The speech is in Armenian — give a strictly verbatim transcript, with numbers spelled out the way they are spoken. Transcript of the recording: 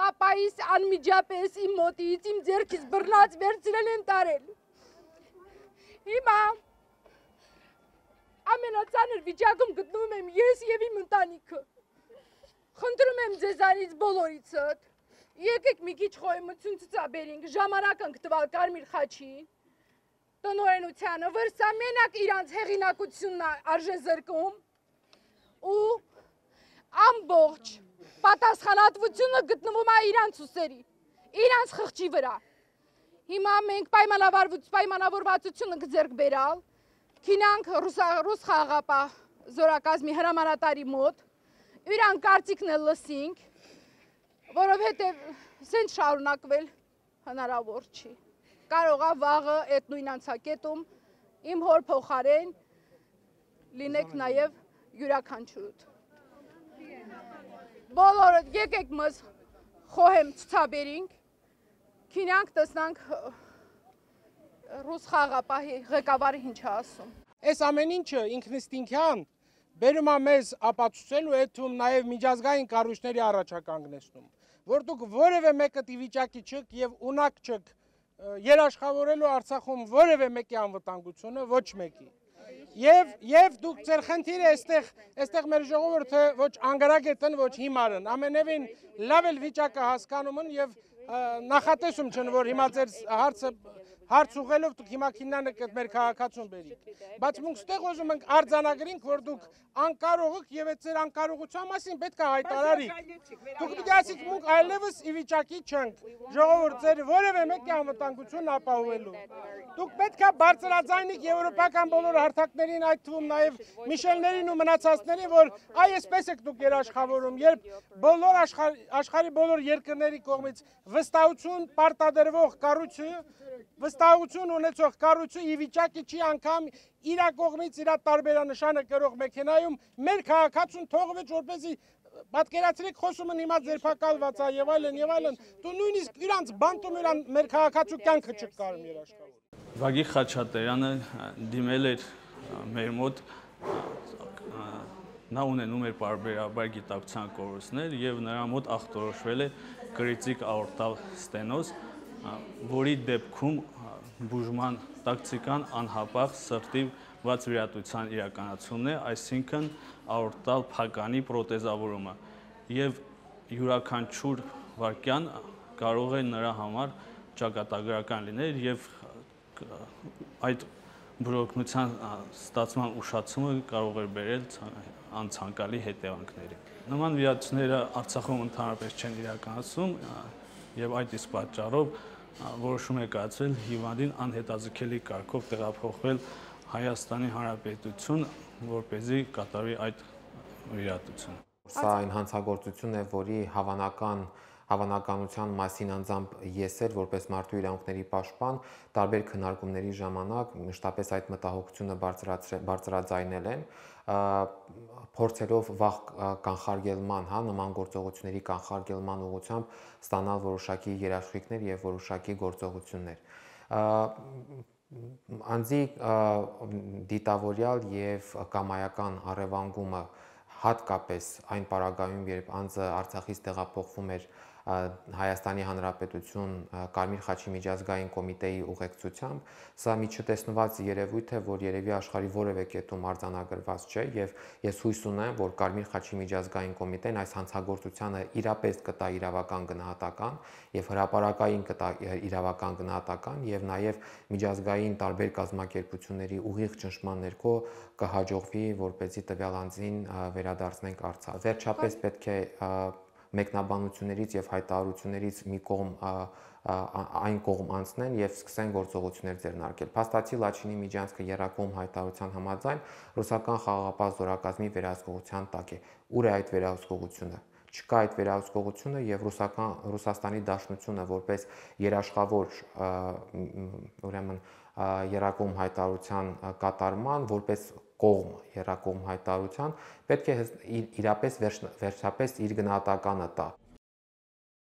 Պապայիս անմիջապես իմ մոտից, իմ ձեռքից բռնած վերցրել են տարել։ Հիմա ամենածանր վիճակում գտնվում եմ ես եւ իմ ընտանիքը։ Խնդրում եմ ձեզանից բոլորիցդ, եկեք մի քիչ խոհեմություն ցուցաբերենք, ժամանակ ենք տվել Կարմիր խաչին, տնօրենությանը, որ սա մենակ իրանց հեղինակությունն արժե զրկում ու ամբողջ պատասխանատվությունը գտնվում է իրանց ուսերի, իրանց խղճի վրա։ Հիմա մենք պայմանավորվածություն ենք ձեռք բերալ, քինանք ռուս խաղաղապահ զորակազմի հրամանատարի մոտ, իրան կարծիքն էլ լսինք, որովհետև սենց շարունակվել հնարավոր չի։ Կարող է վաղը այդ նույն անցակետում իմ հոր փոխարեն լինեք նաև յուրաքանչյուրդ։ Բոլորը եկեք մեզ խոհեմ ցուցաբերենք, քինանք տեսնանք ռուս խաղաղապահի ղեկավարը ինչ է ասում։ Այս ամեն ինչը ինքնըստինքյան բերում է մեզ ապացուցելու հետում նաև միջազգային կառույցների առաջականգնեցնում, որ դուք որևէ մեկը դիվիճակի չեք եւ ունակ չեք երաշխավորելու Արցախում որևէ մեկի անվտանգությունը, ոչ մեկի։ Եվ եւ դուք ձեր խնդիրը այստեղ այստեղ մեր ժողովուրդը ոչ անգարագետն, ոչ հիմարն, ամենևին լավ էլ վիճակը հասկանում են եւ նախատեսում չեն, որ հիմա ձեր հարցը հարց ուղղելով դուք հիմա քիննանեք այդ մեր քաղաքացուն բերիք։ Բայց մենք ստեղ ուզում ենք արձանագրենք, որ դուք անկարող եք եւ այդ ձեր անկարողության մասին պետք է հայտարարիք։ Դուք պիտի ասիք, մենք այլևս ի վիճակի չենք ժողովուրդ ձեր որևէ մեկի անվտանգությունն ապահովելու։ Դուք պետք է բարձրաձայնիք եվրոպական բոլոր հարթակներին, այդ թվում նաեւ Միշելներին ու մնացածներին, որ այ այսպես եք դուք երաշխավորում, երբ բոլոր աշխարհի բոլոր երկրների կողմից վստահություն պարտադրվող կառույցը վստահություն ունեցող կառույցը ի վիճակի չի անգամ իր կողմից իր տարբերանշանը կրող մեքենայում մեր քաղաքացուն թողվեց, որպեսզի պատկերացրեք խոսում են հիմա ձերբակալված է եւ այլն եւ այլն, դու նույնիսկ իրանց բանտում իրան մեր քաղաքացու կյանքը չկարում երաշխավոր։ Վագի Խաչատրյանը դիմել էր մեր մոտ, նա ունենում էր պարբերաբար գիտակցության կորուստներ եւ նրա մոտ ախտորոշվել է կրիտիկ աորտալ ստենոզ, որի դեպքում բուժման տակտիկան անհապաղ սրտի ված վիրատության իրականացումն է, այսինքն աորտալ փականի պրոթեզավորումը եւ յուրաքանչյուր վարքյան կարող է նրա համար ճակատագրական լինել եւ այդ բրոկնության ստացման ուշացումը կարող է բերել անցանկալի հետևանքների։ Նման վիրատությունները Արցախում ընդհանրապես չեն իրականացվում եւ այդ իսկ պատճառով որոշում է կայացվել հիվանդին անհետաձգելի կարգով տեղափոխվել Հայաստանի Հանրապետություն, որպեսզի կատարվի այդ վիրատությունը։ Սա այն հանցագործություն է, որի հավանական հավանականության մասին անձամբ ես էլ որպես մարդու իրավունքների պաշտպան տարբեր քննարկումների ժամանակ մշտապես այդ մտահոգությունը բարձրաձայնել եմ, փորձելով վաղ կանխարգելման, հա, նման գործողությունների կանխարգելման ուղղությամբ ստանալ որոշակի երաշխիքներ եւ որոշակի գործողություններ։ Անձի դիտավորյալ եւ կամայական առևանգումը հատկապես այն պարագայում, երբ անձը Արցախից տեղափոխվում էր Հայաստանի Հանրապետություն Կարմիր խաչի միջազգային կոմիտեի ուղեկցությամբ, սա մի չտեսնված երևույթ է, որ երևի աշխարհի որևէ կետում արձանագրված չէ եւ ես հույս ունեմ, որ Կարմիր խաչի միջազգային կոմիտեն այս հանցագործությանը իրապես կտա իրավական գնահատական եւ հրապարակային կտա իրավական գնահատական եւ նաեւ միջազգային տարբեր կազմակերպությունների ուղիղ ճնշման ներքո կհաջողվի, որպեսզի տվյալ անձին վերադարձնենք Արցախ։ Վերջապես պետք է մեկնաբանություններից եւ հայտարարություններից մի կողմ այն կողմ անցնեն եւ սկսեն գործողություններ ձեռնարկել։ Փաստացի Լաչինի Միջանցքը եռակողմ հայտարարության համաձայն ռուսական խաղաղապահ զորակազմի վերահսկողության տակ է։ Ուր է այդ վերահսկողությունը։ Չկա այդ վերահսկողությունը եւ ռուսական Ռուսաստանի Դաշնությունը որպես երաշխավոր ուրեմն եռակողմ հայտարարության կատարման որպես կողմ եռակողմ հայտարարության պետք է իրապես վերջապես իր գնահատականը տա։